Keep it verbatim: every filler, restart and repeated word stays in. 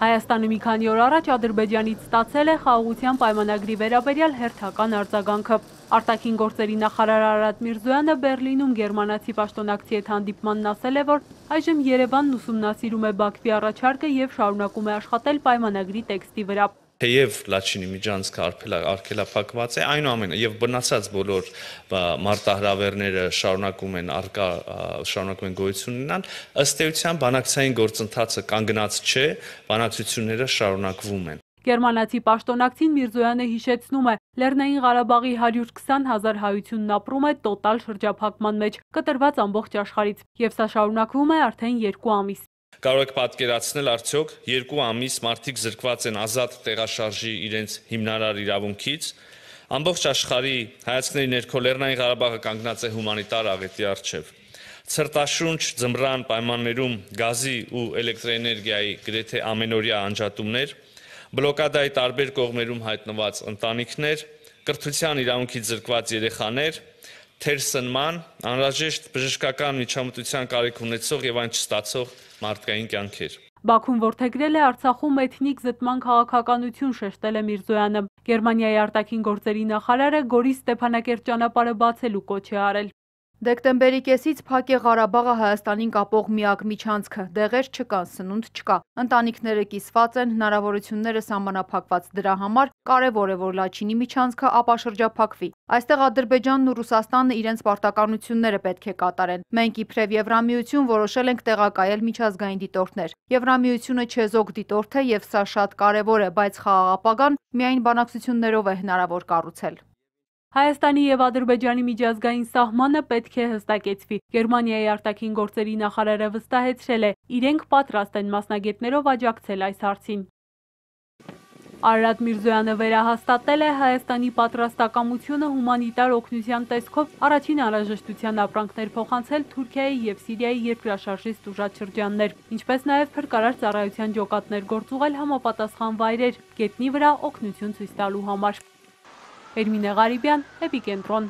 Հայաստանը մի քանի օր առաջ Ադրբեջանից ստացել է խաղաղության պայմանագրի վերաբերյալ հերթական արձագանքը։ Արտաքին գործերի նախարար Արարատ Միրզոյանը Բեռլինում գերմանացի պաշտոնակցի հետ հանդիպմանն ասել է, որ այժմ Երևանն ուսումնասիրում է Բաքվի առաջարկը եւ շարունակում է աշխատել պայմանագրի տեքստի վրա։ Թեև Լաչինի միջանցքը արգելափակված է, այնուամենայնիվ եւ բնացած բոլոր մարտահրավերները շարունակում են արկա շարունակում են գոյություն ունենալ, ըստ էության բանակցային գործընթացը կանգնած չէ, բանակցությունները շարունակվում են։ Գերմանացի պաշտոնակցին Միրզոյանը հիշեցնում է, Լեռնային Ղարաբաղի հարյուր քսան հազար հայությունն ապրում է տոտալ շրջափակման մեջ, կտրված ամբողջ աշխարհից, եւ սա շարունակվում է արդեն երկու ամիս։ Կարող եք պատկերացնել արդյոք երկու ամիս մարդիկ զրկված են ազատ տեղաշարժի իրենց հիմնարար իրավունքից, ամբողջ աշխարհի հայացքների ներքո Լեռնային Ղարաբաղը կանգնած է հումանիտար աղետի առջև։ Ցրտաշունչ ձմռան պայմաններում գազի ու էլեկտրոէներգիայի գրեթե ամենօրյա անջատումներ, բլոկադայի տարբեր կողմերում հայտնված ընտանիքներ, կրթության իրավունքից զրկված երեխաներ, թերսնման, անհրաժեշտ բժշկական միջամտության կարիք ունեցող եւ այն չստացող մարդկային կյանքեր։ Բաքուն որդեգրել է Արցախում էթնիկ զտման քաղաքականություն, շեշտել է Միրզոյանը։ Գերմանիայի արտաքին գործերի նախարարը Գորիս Ստեփանակերտ ճանապարհը բացելու կոչ է արել։ Դեկտեմբերի կեսից փակ է Ղարաբաղը Հայաստանին կապող միակ միջանցքը, դեղեր չկան, սնունդ չկա, ընտանիքները կիսված են, հնարավորությունները սահմանափակված, դրա համար կարևոր է, որ Լաչինի միջանցքը ապաշրջափակվի։ Այստեղ Ադրբեջանն ու Ռուսաստանը իրենց պարտականությունները պետք է կատարեն։ Մենք իբրև Եվրամիություն որոշել ենք տեղակայել միջազգային դիտորդներ։ Եվրամիությունը չեզոք դիտորդ է եւ սա շատ կարևոր է, բայց խաղաղ ապագան միայն բանակցություններով է հնարավոր կառուցել։ Հայաստանի եւ Ադրբեջանի միջազգային սահմանը պետք է հստակեցվի։ Գերմանիայի արտաքին գործերի նախարարը վստահեցրել է, իրենք պատրաստ են մասնագետներով աջակցել այս հարցին։ Արարատ Միրզոյանը վերահաստատել է Հայաստանի պատրաստակամությունը հումանիտար օգնության տեսքով առաջին անհրաժեշտության ապրանքներ փոխանցել Թուրքիայի եւ Սիրիայի երկրաշարժից տուժած շրջաններ, ինչպես նաեւ փրկարար ծառայության ջոկատներ գործուղել համապատասխան վայրեր, գետնի վրա օգնություն ցույց տալու համար։ Էրմինե Ղարիբյան, Էպիկենտրոն։